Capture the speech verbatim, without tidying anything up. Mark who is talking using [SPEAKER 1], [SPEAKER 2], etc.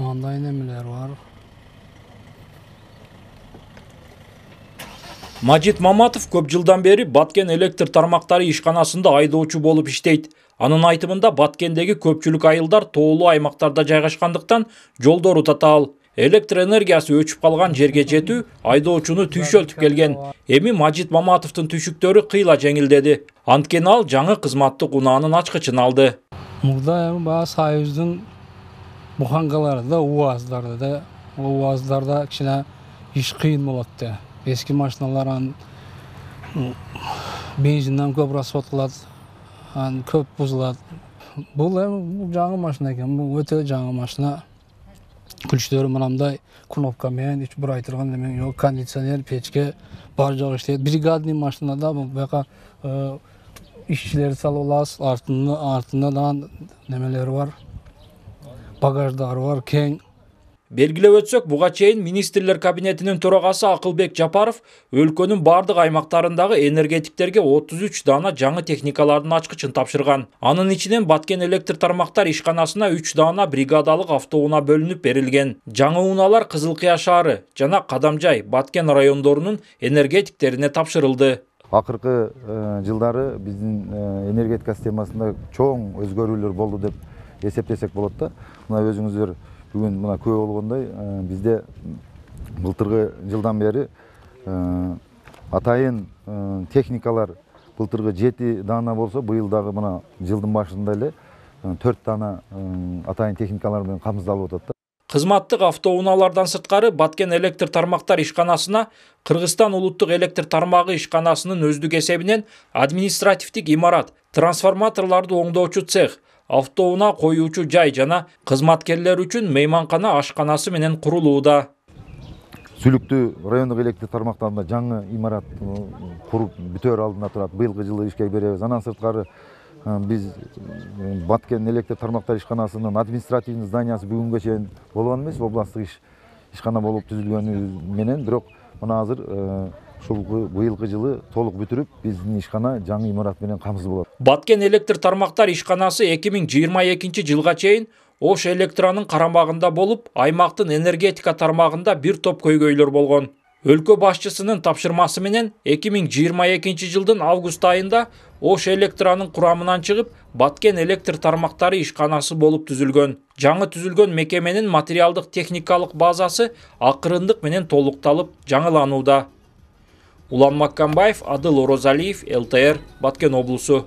[SPEAKER 1] Андай немелер бар.
[SPEAKER 2] Мажит Маматов көп жылдан бери Баткен электр тармактары ишканасында айдоочу болуп иштейт. Анын айтымында Баткендеги көпчүлүк айылдар тоолуу аймактарда жайгашкандыктан жолдору татаал. Электр энергиясы өчүп калган жерге жетүү айдоочуну түйшөлтүп келген. Эми Мажит Маматовдун түшүктөрү кыйла жеңилдеди. Анткени ал жаңы кызматтык унаанын ачкычын алды.
[SPEAKER 1] Мурда эми баягы Союздун бухангаларында, УАЗдарда, УАЗдарда кичине иш кыйын болот да. Eski машиналар ан бензинден көп расход кылат, ан көп бузулат. Бул эми жаңы машина экен, бул өтө жаңы машина. Күчтөрү мынандай кнопка менен үч бурай турган неме жок, кондиционер, печке бар жок иштейт. Бригадный машинада бул бака ишчилерди салып алабыз, артында артында да немелери бар. Багаждары бар, кең.
[SPEAKER 2] Белгилеп өтсөк, буга чейин министрлер кабинетинин төрагасы Акылбек Жапаров өлкөнүн бардык аймактарындагы энергетиктерге отуз үч даана жаңы техникалардын ачкычын тапшырган. Анын ичинен Баткен электр тармактар ишканасына үч даана бригадалык автоунаа бөлүнүп берилген. Жаңы унаалар Кызыл Кыя шаары жана Кадамжай, Баткен райондорунун энергетиктерине тапшырылды.
[SPEAKER 3] Акыркы жылдары биздин энергетика системасында чоң өзгөрүүлөр болду деп эсептесек болот да. Мына өзүңүздөр бүгүн мына күбө болгондой, бизде былтыркы жылдан бери атайын техникалар былтыркы жети даана болсо, быйыл дагы мына жылдын башында эле төрт даана атайын техникалар менен камсыздалып атат да.
[SPEAKER 2] Кызматтык автоунаалардан сырткары Баткен электр тармактар ишканасына Кыргызстан улуттук электр тармагы ишканасынын өздүк эсебинен административдик имарат, трансформаторлорду оңдоочу цех, автоунаа коюучу жай жана кызматкерлер үчүн мейманкана ашканасы менен курулууда.
[SPEAKER 3] Сүлүктүү райондук электр тармактарында жаңы имарат куруп бүтөр алдында турат. Быйылкы жылы ишке беребиз. Андан сырткары биз Баткен электр тармактар ишканасынын административный зданиясы бүгүнгө чейин болгон эмес, областтык иш ишкана болуп түзүлгөнү менен, бирок мына азыр ушул быйылкы жылы толук бүтүрүп, биздин ишкана жаңы имарат менен камсыз болот.
[SPEAKER 2] Баткен электр тармактар ишканасы эки миң жыйырма экинчи жылга чейин Ош электронун карамагында болуп, аймактын энергетика тармагында бир топ көйгөйлөр болгон. Өлкө башчысынын тапшырмасы менен эки миң жыйырма экинчи жылдын август айында Ош электронун курамынан чыгып, Баткен электр тармактары ишканасы болуп түзүлгөн. Жаңы түзүлгөн мекеменин материалдык техникалык базасы акырындык менен толукталып, жаңыланууда. Улан Маккамбаев, Адыл Орозалиев, эл тэ эр, Баткен облусу.